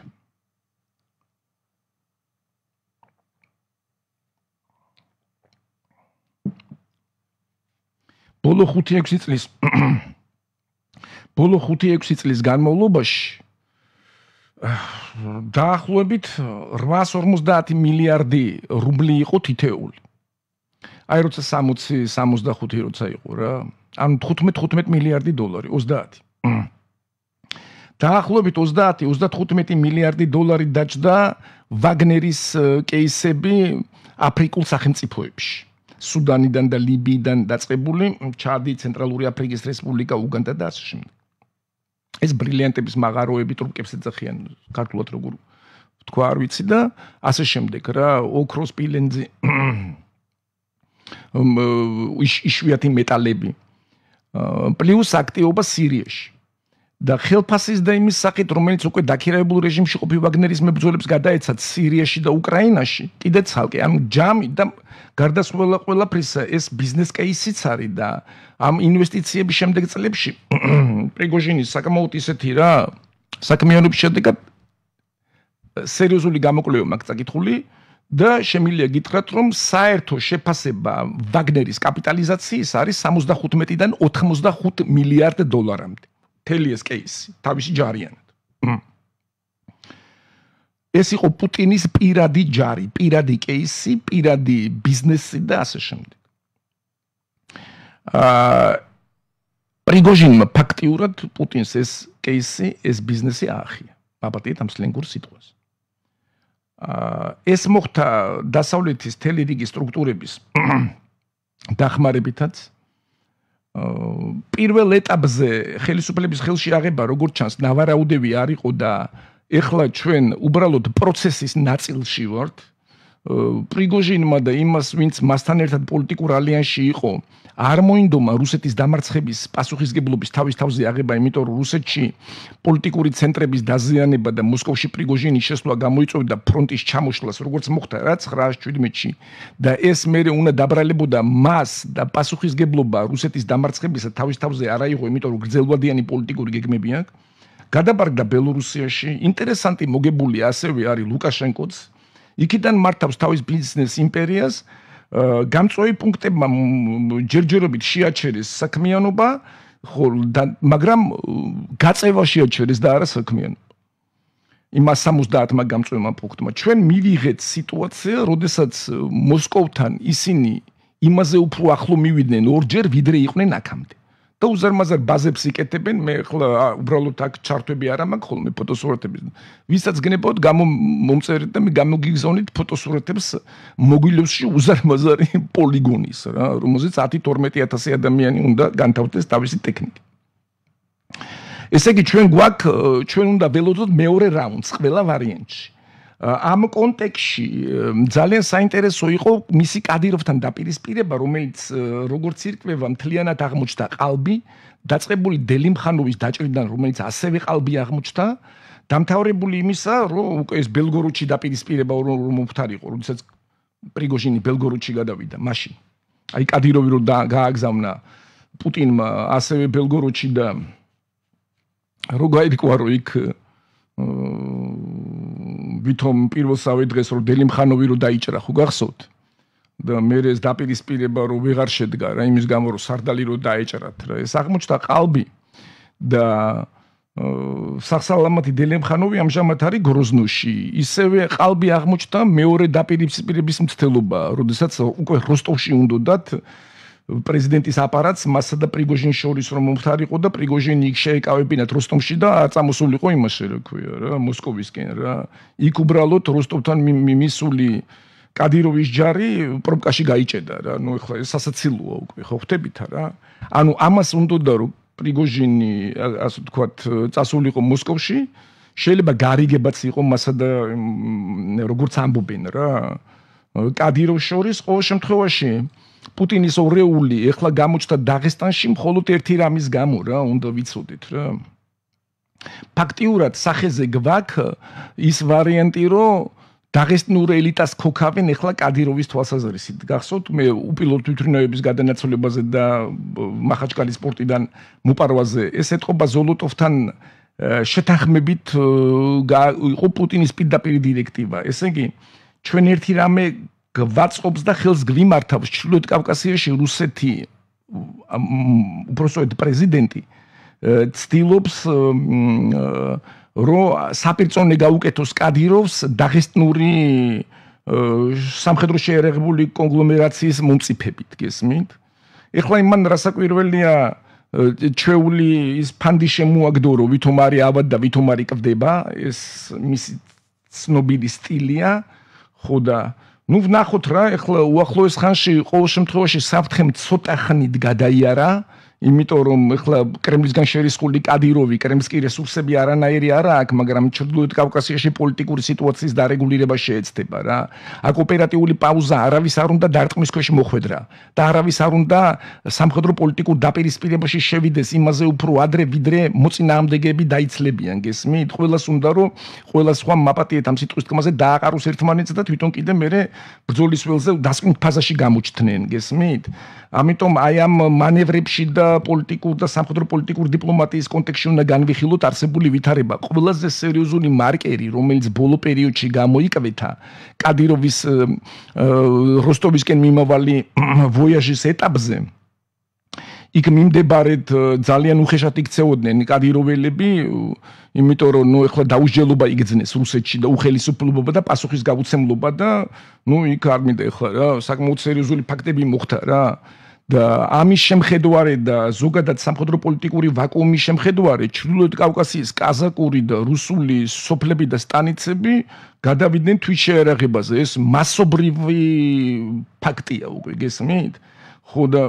ბოლო 5-6 წლის განმავლობაში დაახლოებით 850 მილიარდი რუბლი იყო თითეული აი როცა 60-65 როცა იყო რა ანუ 15 მილიარდი დოლარი 30 დაახლოებით 30-35 მილიარდი დოლარი დაჭდა ვაგნერის კეისები აფრიკულ სახელმწიფოებში სუდანიდან და ლიბიიდან დაწყებული ჩადი ცენტრალური აფრიკის რესპუბლიკა უგანდა და ასე შემდეგ ეს ბრილიანტების მაღაროები ტრუკებს ეძახიან ქართულად როგორ თქვა არ ვიცი და ასე შემდეგ რა ოქროს სპილენძი იშვიათი მეტალები პლუს აქტივობა სირიაში და ხელფასის და იმის სახით რომელიც უკვე დაქირავებულ რეჟიმში ყოფი ვაგნერის მებრძოლებს გადაეცათ სირიაში და უკრაინაში კიდე ცალკე ამ ჯამი და გარდასვლა ყველაფრისა ეს ბიზნეს კეისიც არის და ამ ინვესტიციების შემდეგ წლებში პრიგოჟინის საკმაოდ ისეთი რა საქმიანობის შედეგად სერიოზული გამოკვლევა მაქვს წაკითხული და შემიძლია გითხრათ რომ საერთო შეფასება ვაგნერის კაპიტალიზაციის არის 75-დან 85 მილიარდ დოლარამდე მთელი ეს კეისი თავისი ჯარიანად ეს იყო პუტინის პირადი ჯარი პირადი კეისი პირადი ბიზნესი და ასე შემდეგ პრიგოჟინმა ფაქტიურად პუტინს ეს кейსი, ეს ბიზნესი აახია. აბატიეთ ამ სლენგურ სიტყვას. ეს მოხდა დასავლეთის მთელი რიგი სტრუქტურების დახმარებითაც. პირველ ეტაპზე ხელისუფლების ხელში აღება როგორც ჩანს ნავარაუდევი არ იყო და ეხლა ჩვენ უბრალოდ პროცესის ნაწილში ვართ. პრიგოჟინმა და იმას, ვინც მასთან ერთად პოლიტიკურ ალიანსში იყო, არ მოინდომა რუსეთის დამარცხების პასუხისგებლობის თავის თავზე აღება, იმიტომ რომ რუსეთში პოლიტიკური ცენტრების დაზიანება და მოსკოვში პრიგოჟინის შესვლა გამოიწვევდა ფრონტის ჩამოშლას, როგორც მოხდა რა 917-ში და ეს მერე უნდა დაბრალებოდა მას და პასუხისგებლობა რუსეთის დამარცხებისა თავის თავზე არ აიღო, იმიტომ რომ გრძელვადიანი პოლიტიკური გეგმები აქვს. გადაბარგდა ბელორუსიაში, ინტერესანტი მოგებული ასევე არის ლუკაშენკოც. იქიდან მართავს თავის ბიზნეს იმპერიას, გამწვევი პუნქტებმა ჯერჯერობით შეაჩერეს საქმიანობა, მაგრამ გაწევა შეაჩერეს და არა საქმიანობა. იმას 70-მა გამწვევმა პუნქტმა. ჩვენ მივიღეთ სიტუაცია, როდესაც მოსკოვთან ისინი იმაზე უფრო ახლო მივიდნენ ორჯერ, ვიდრე იყვნენ აქამდე. და უზარმაზარ ბაზებს იკეთებენ, მე ხლა უბრალოდ აქ ჩარტვები არ მაქვს ხოლმე ფოტოსურათების. ვისაც გნებავთ მომწერეთ და მე გამოგიგზავნით ფოტოსურათებს მოგილევსში უზარმაზარი პოლიგონის რა, რომელზეც 10-12,000 ადამიანი უნდა განთავდეს თავისი ტექნიკით. ესე იგი ჩვენ უნდა ველოდოთ მეორე რაუნდს ყველა ვარიანტში. ამ კონტექსტში ძალიან საინტერესო იყო მისი კადიროვთან დაპირისპირება, რომელიც როგორც ირკვევა მთლიანად აღმოჩნდა ყალბი, დაწყებული დელიმხანოვის დაჭრიდან, რომელიც ასევე ყალბი აღმოჩნდა, დამთავრებული იმისა, რომ უკვე ეს ბელგოროდში დაპირისპირება რომ მომხდარიყო, როდესაც პრიგოჟინი ბელგოროდში გადავიდა, მაშინ. აი კადიროვი რომ გააგზავნა პუტინმა ასევე ბელგოროდში და რო გაირკვა რომ იქ ვითომ პირველსავე დღეს რომ დელიმხანოვი რომ დაიჭრა ხო გახსოვთ და მე ეს დაპირისპირება რომ ვეღარ შედგა რა იმის გამო რომ სარდალი რომ დაეჭრათ რა ეს აღმოჩნდა ყალბი და სახსალამათი დელიმხანოვი ამჟამად არის გროზნოში ისევე ყალბი აღმოჩნდა მეორე დაპირისპირების მცდელობა როდესაც უკვე როსტოვში უნდათ პრეზიდენტის აპარატს მასა და პრიგოჟინს შორის რომ მომხდარიყო და პრიგოჟინი იქ შეეკავებინათ როსტომში და წამოსულიყო იმაში რა ქვია რა მოსკოვისკენ რა იქ უბრალოდ როსტოვთან მისული კადიროვის ჯარი პრობკაში გაიჭედა რა ნუ ეხლა ეს სასაცილოა უკვე ხო ხვდებით რა ანუ ამას უნდა რომ პრიგოჟინი ასე ვთქვათ წასულიყო მოსკოვში შეიძლება გარიგებაც იყო მასა და როგორც ამბობენ რა კადიროვს შორის ყოველ შემთხვევაში პუტინის ორეული ეხლა გამოჩნდა დაღესტანში მხოლოდ ერთი რამის გამო რა უნდა ვიცოდეთ რა ფაქტიურად სახეზე გვაქვს ის ვარიანტი რომ დაღესტნურ ელიტას ქოქავენ ეხლა კადიროვის თვალსაზრისით გახსოვთ მე უპილოტო თვითმფრინავების გადანაცვლებაზე და მახაჩკალის სპორტიდან მოპარვაზე ეს ეთყობა ზოლოტოვთან შეთანხმებით იყო პუტინის პირდაპირ დირექტივა ესე იგი ჩვენ ერთი რამე გვაწყობს და ხელს გვიმართავს ჩრდილოეთ კავკასიაში რუსეთი უпроსტოდ პრეზიდენტი ცდილობს რომ საპირწონე გაუკეთოს კადიროვს დაღესტნური სამხედრო შეერაღებული კონგლომერაციის მომწიფებით გესმით ეხლა იმან რასაკვირველია ჩვეული ის ფანდი შემოაგდო რომ ვითომ არის ავად და ვითომ არის კвდება ეს მისი ცნობილი სტილია ხო და ნუ ვნახოთ რა ეხლა უახლოეს ხანში ყოველ შემთხვევაში საფრთხემ ცოტა ხნით გადაიარა იმიტომ რომ ეხლა კრემლისგან შერისხული კადიროვი კრემლსკი რესურსები არანაირი არა აქვს მაგრამ ჩრდილოეთ კავკასიაში პოლიტიკური სიტუაციის დარეგულირება შეეცდება რა აქ ოპერატიული პაუზა არავის არ უნდა დარტყმის ქვეშ მოხვედრა და არავის არ უნდა სამხედრო პოლიტიკურ დაპირისპირებაში შევიდეს იმაზე უფრო ადრე ვიდრე მოწინააღმდეგეები დაიცლებიან გესმით ყველას უნდა რომ ყველა სხვა მაპატიეთ ამ სიტყვის თქმაზე დააყაროს ერთმანეთს და თვითონ კიდე მე ბრძოლის ველზე დასკვნით ფაზაში გამოჩნდნენ გესმით ამიტომ აი ამ მანევრებში და პოლიტიკურ და სამხედრო პოლიტიკურ დიპლომატიის კონტექსტში უნდა განვიხილოთ არსებული ვითარება. ყველაზე სერიოზული მარკერი, რომელიც ბოლო პერიოდში გამოიკვლეთა კადიროვის როსტოვისკენ მიმავალი ვოიაჟის ეტაპზე, იქ მიმდებარედ ძალიან უხეშად იქცეოდნენ კადიროველები, იმიტომ რომ ნუ ეხლა დაუსჯელობა იგრძნეს რუსეთში და უხელისუფლება და პასუხის გაუცემლობა და ნუ იქ არ მინდა ეხლა რა საკმაოდ სერიოზული ფაქტები მოხდა რა. და ამის შემხედვარედ და ზოგადად სამხედრო პოლიტიკური ვაკუუმის შემხედვარედ ჩრდილოეთ კავკასიის კაზაკური და რუსული სოფლები და სტანიცები გადავიდნენ თვითშეერაღებაზე. ეს მასობრივი ფაქტია უკვე გესმით? ხო და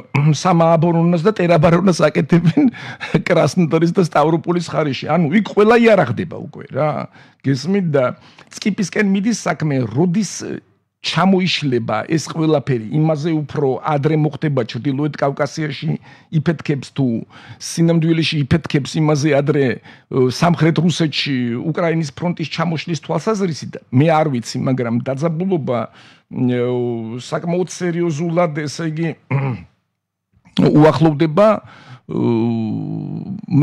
სამააბორონას და ტერაბარონას აკეთებენ კრასნოდარის და სტავროპოლის ხარისში. ანუ იქ ყველა იარაღდება უკვე რა. გესმით და წკიპისკენ მიდის საქმე, როდის ჩამოიშლება ეს ყველაფერი, იმაზე უფრო ადრე მოხდება ჩრდილოეთ კავკასიაში იფეთქებს თუ სინამდვილეში იფეთქებს იმაზე ადრე სამხრეთ რუსეთში უკრაინის ფრონტის ჩამოშლის თვალსაზრისით მე არ ვიცი, მაგრამ დაძაბულობა საკმაოდ სერიოზულად, ესე იგი უახლოვდება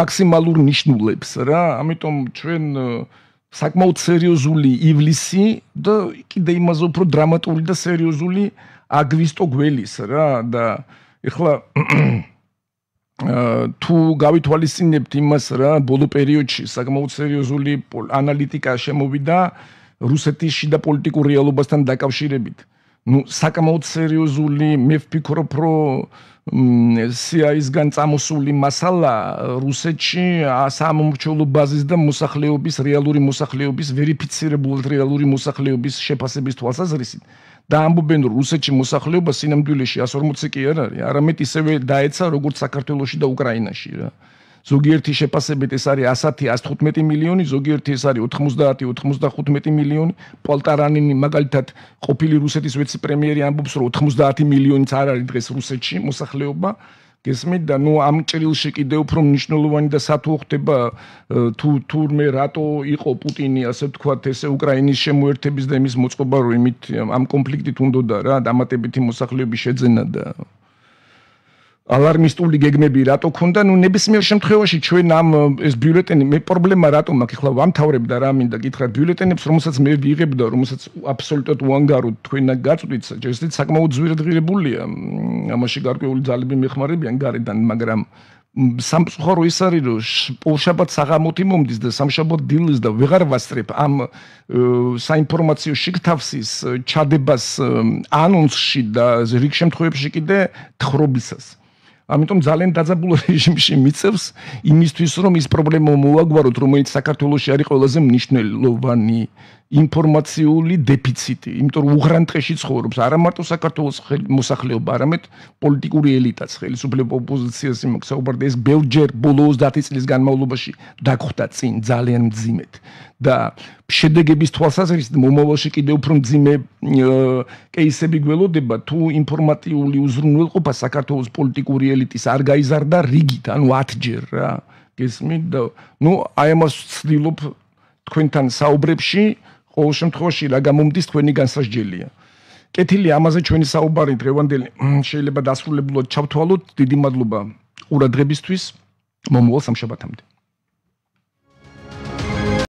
მაქსიმალურ ნიშნულებს რა, ამიტომ ჩვენ საკმაოდ სერიოზული ივლისი და კიდე იმაზე უფრო დრამატული და სერიოზული აგვისტო გველის რა და ეხლა თუ გავითვალისწინებთ იმას რა ბოლო პერიოდში საკმაოდ სერიოზული ანალიტიკა შემოვიდა რუსეთის შიდა პოლიტიკურ რეალობასთან დაკავშირებით. ნუ საკმაოდ სერიოზული მე ვფიქრობ რომ CIA-ისგან წამოსული მასალა რუსეთში სამომრჩევლო ბაზის და მოსახლეობის რეალური მოსახლეობის ვერიფიცირებული რეალური მოსახლეობის შეფასების თვალსაზრისით და ამბობენ რომ რუსეთში მოსახლეობა სინამდვილეში 140 კი არ არის, არამედ ისევე დაეცა როგორც საქართველოში და უკრაინაში რა. ზოგიერთი შეფასებით ეს არის 110-115 მილიონი, ზოგიერთი ეს არის 90-95 მილიონი. პოლტარანინი მაგალითად ყოფილი რუსეთის ვიცე-პრემიერი ამბობს რომ 90 მილიონიც არ არის დღეს რუსეთში მოსახლეობა. გესმით და ნუ ამ ჭრილში კიდევ უფრო მნიშვნელოვანი და სათუო ხდება თურმე რატო იყო პუტინი ასე ვთქვათ ესე უკრაინის შემოერთების და იმის მოწყობა რომ იმით ამ კონფლიქტით უნდოდა რა დამატებითი მოსახლეობის შეძენა და ალარმისტული გეგმები რატო ქონდა, ნუ ნებისმიერ შემთხვევაში ჩვენ ამ ეს ბიულეტენი მე პრობლემა რატომ მაქვს, ეხლა ვამთავრებ და რა მინდა გითხრათ ბიულეტენებს, რომელსაც მე ვიღებ და რომელსაც აბსოლუტურად უანგაროდ თქვენ გაწვდით, ჯერჯერობით საკმაოდ ძვირადღირებულია, ამაში გარკვეული ძალები მეხმარებიან გარედან, მაგრამ სამწუხარო ის არის რომ პოლშაბათს აღამოთი მომდის და სამშაბათ დილის და ვეღარ ვასწრებ ამ საინფორმაციო შიგთავსის ჩადებას ანონსში და რიგ შემთხვევებში კიდე თხრობისას. ამიტომ ძალიან დაძაბულ რეჟიმში მიწევს იმისთვის რომ ის პრობლემა მოვაგვაროთ, რომელიც საქართველოში არის ყველაზე მნიშვნელოვანი ინფორმაციული დეფიციტი, იმიტომ რომ უღრანტყეში ცხოვრობს არა მარტო საქართველოს მოსახლეობა, არამედ პოლიტიკური ელიტაც, ხელისუფლება ოპოზიციას იმაქვს საუბარდა ეს ბევრჯერ ბოლო 30 წლის განმავლობაში დაგხვდა წინ ძალიან მძიმედ და შედეგების თვალსაზრისით მომავალში კიდევ უფრო მძიმე კეისები გველოდება თუ ინფორმატიული უზრუნველყოფა საქართველოს პოლიტიკური ელიტის არ გაიზარდა რიგით, ანუ 10ჯერ რა. გესმით და ნუ აი ამას ვცდილობ თქვენთან საუბრებში ყოველ შემთხვევაში რა გამომდის თქვენი განსასჯელია. კეთილი ამაზე ჩვენი საუბარი დღევანდელი შეიძლება დასრულებულად ჩავთვალოთ. დიდი მადლობა ყურადღებისთვის. მომავალ სამშაბათამდე.